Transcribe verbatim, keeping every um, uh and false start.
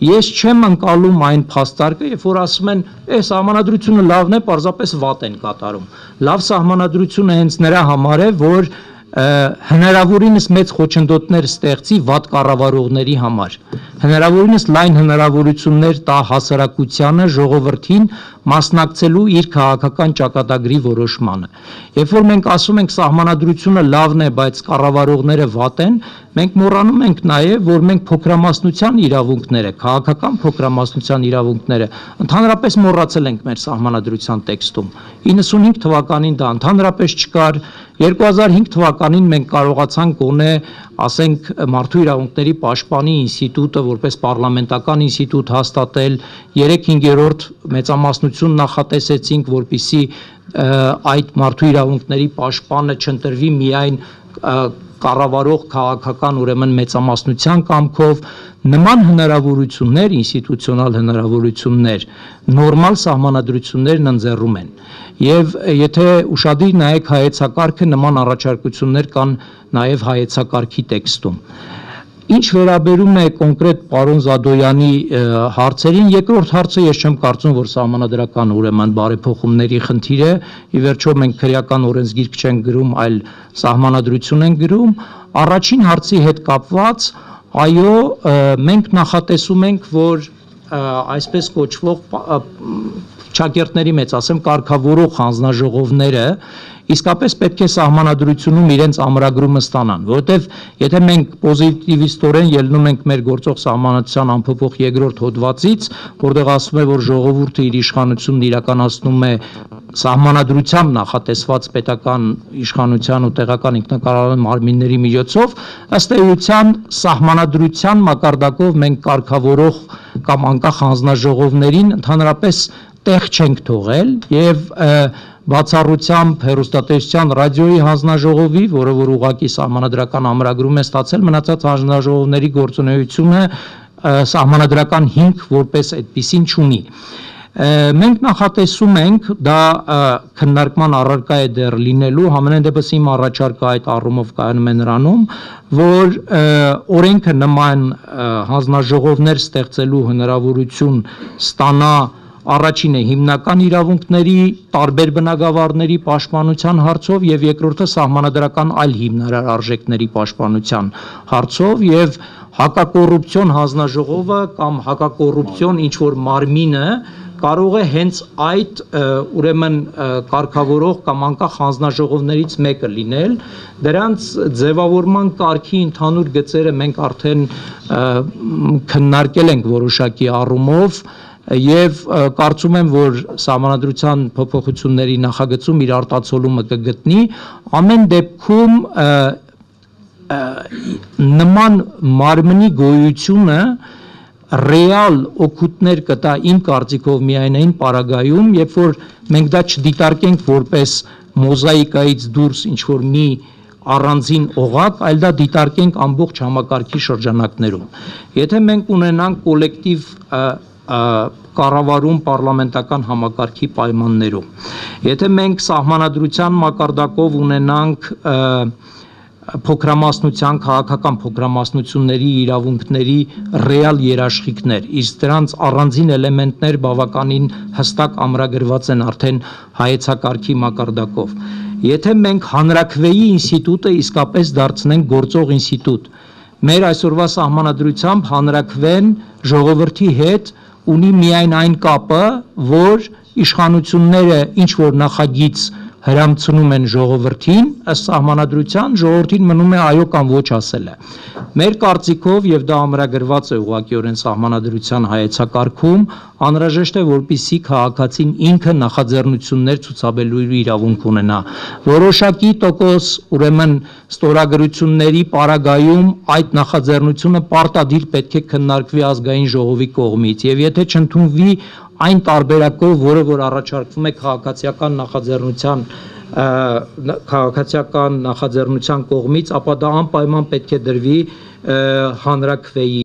Ես չեմ ընկալում այն փաստարկը, երբ որ ասում են, «Է, սահմանադրությունը լավն է, պարզապես վատ են կատարում»։ Լավ սահմանադրությունը հենց նրա համար է, որ հնարավորինս մեծ խոչընդոտներ ստեղծի վատ կառավարողների համար, հնարավորինս լայն հնարավորություններ տա հասարակությանը, ժողովրդին մասնակցելու իր քաղաքական ճակատագրի որոշմանը։ Երբ որ մենք ասում ենք սահմանադրությունը լավն է, բայց կառավարողները վատ են, մենք մոռանում ենք նաև, որ մենք փոքրամասնության իրավունքները, քաղաքական փոքրամասնության իրավունքները ընդհանրապես մոռացել ենք մեր սահմանադրության տեքստում։ իննսունհինգ թվականին դա ընդհանրապես չկար, երկու հազար հինգ թվականին մենք կարողացանք գոնե, ասենք, մարդու իրավունքների պաշտպանի ինստիտուտը որպես պարլամենտական ինստիտուտ հաստատել, երեք հինգերորդ մեծամասնություն նախատեսեցինք, որպեսզի այդ մարդու իրավունքների պաշտպանը չընտրվի միայն կառավարող քաղաքական ուրեմն մեծամասնության կամքով, նման հնարավորություններ, ինստիտուցիոնալ հնարավորություններ, նորմալ սահմանադրություններն ընձեռում են։ Եվ եթե ուշադիր նայեք հայեցակարգը, նման առաջարկություններ կան նաև հայեցակարգի տեքստում։ Ինչ վերաբերում է կոնկրետ պարոն Զադոյանի հարցերին, երկրորդ հարցը ես չեմ կարծում, որ սահմանադրական ուրեմն բարեփոխումների խնդիր է, ի վերջո մենք քրեական օրենսգիրք չենք գրում, այլ սահմանադրություն ենք գրում, առաջին հարցի հետ կապված, այո, մենք նախատեսում ենք, որ այսպես կոչվող ճակերտների մեծ, ասեմ, կարգավորող հանձնաժողովները իսկապես պետք է սահմանադրությունում իրենց ամրագրումը ստանան, որովհետև եթե մենք պոզիտիվիստորեն ելնում ենք մեր գործող սահմանադրության ամփոփող երկրորդ հոդվածից, որտեղ ասվում է, որ ժողովուրդը իր իշխանությունն իրականացնում է սահմանադրությամբ նախատեսված պետական իշխանության ու տեղական ինքնակառավարման մարմինների միջոցով, ըստ էության սահմանադրության մակարդակով մենք կարգավորող կամ անկախ հանձնաժողովներին ընդհանրապես տեղ չենք թողել եւ բացառությամբ հեռուստատեսության ռադիոյի հանձնաժողովի, որը որ ուղղակի սահմանադրական ամրագրում է ստացել, մնացած հանձնաժողովների գործունեությունը սահմանադրական հիմք որպես այդպիսին չունի։ Մենք նախատեսում ենք, դա քննարկման առարկա է դեռ լինելու, համենայն դեպս իմ առաջարկը այդ առումով կայանում է նրանում, որ օրենքը նման հանձնաժողովներ ստեղծելու հնարավորություն ստանա առաջինը հիմնական իրավունքների տարբեր բնագավառների պաշտպանության հարցով եւ երկրորդը սահմանադրական այլ հիմնարար արժեքների պաշտպանության հարցով եւ հակակոռուպցիոն հանձնաժողովը կամ հակակոռուպցիոն ինչ որ մարմինը կարող է հենց այդ ուրեմն կարգավորող կամ անկախ հանձնաժողովներից մեկը լինել, դրանց ձևավորման կարգի ընդհանուր գծերը մենք արդեն քննարկել ենք որոշակի առումով եւ կարծում եմ, որ սահմանադրության փոփոխությունների նախագծում իր արտացոլումը կգտնի, ամեն դեպքում նման մարմնի գոյությունը ռեալ օգուտներ կտա իմ կարծիքով միայնային պարագայում, երբ որ մենք դա չդիտարկենք որպես մոզաիկայից դուրս ինչ որ մի առանձին օղակ, այլ դա դիտարկենք ամբողջ համակարգի շրջանակներում։ Եթե մենք ունենանք կոլեկտիվ կառավարում պարլամենտական համակարգի պայմաններում, եթե մենք սահմանադրության մակարդակով ունենանք փոքրամասնության, քաղաքական փոքրամասնությունների իրավունքների ռեալ երաշխիքներ, իսկ դրանց առանձին էլեմենտներ բավականին հստակ ամրագրված են արդեն հայեցակարգի մակարդակով։ Եթե մենք հանրաքվեի ինստիտուտը իսկապես դարձնենք գործող ինստիտուտ, մեր այսօրվա սահմանադրությամբ հանրաքվեն ժողովրդի հետ ունի միայն այն կապը, որ իշխանությունները ինչ որ նախագիծ հրամցնում են ժողովրդին, ըստ սահմանադրության ժողովրդին մնում է այո կամ ոչ ասելը։ Մեր կարծիքով, եւ դա ամրագրված է ուղղակիորեն սահմանադրության հայեցակարգում, անհրաժեշտ է, որպեսզի քաղաքացին ինքը նախաձեռնություններ ցուցաբերելու իրավունք ունենա։ Որոշակի տոկոս, ուրեմն ստորագրությունների պարագայում այդ նախաձեռնությունը պարտադիր պետք է քննարկվի ազգային ժողովի կողմից, եւ եթե չընդունվի այն տարբերակով, որը որ առաջարկվում է քաղաքացիական նախաձեռնության քաղաքացիական նախաձեռնության կողմից, ապա դա անպայման պետք է դրվի հանրաքվեի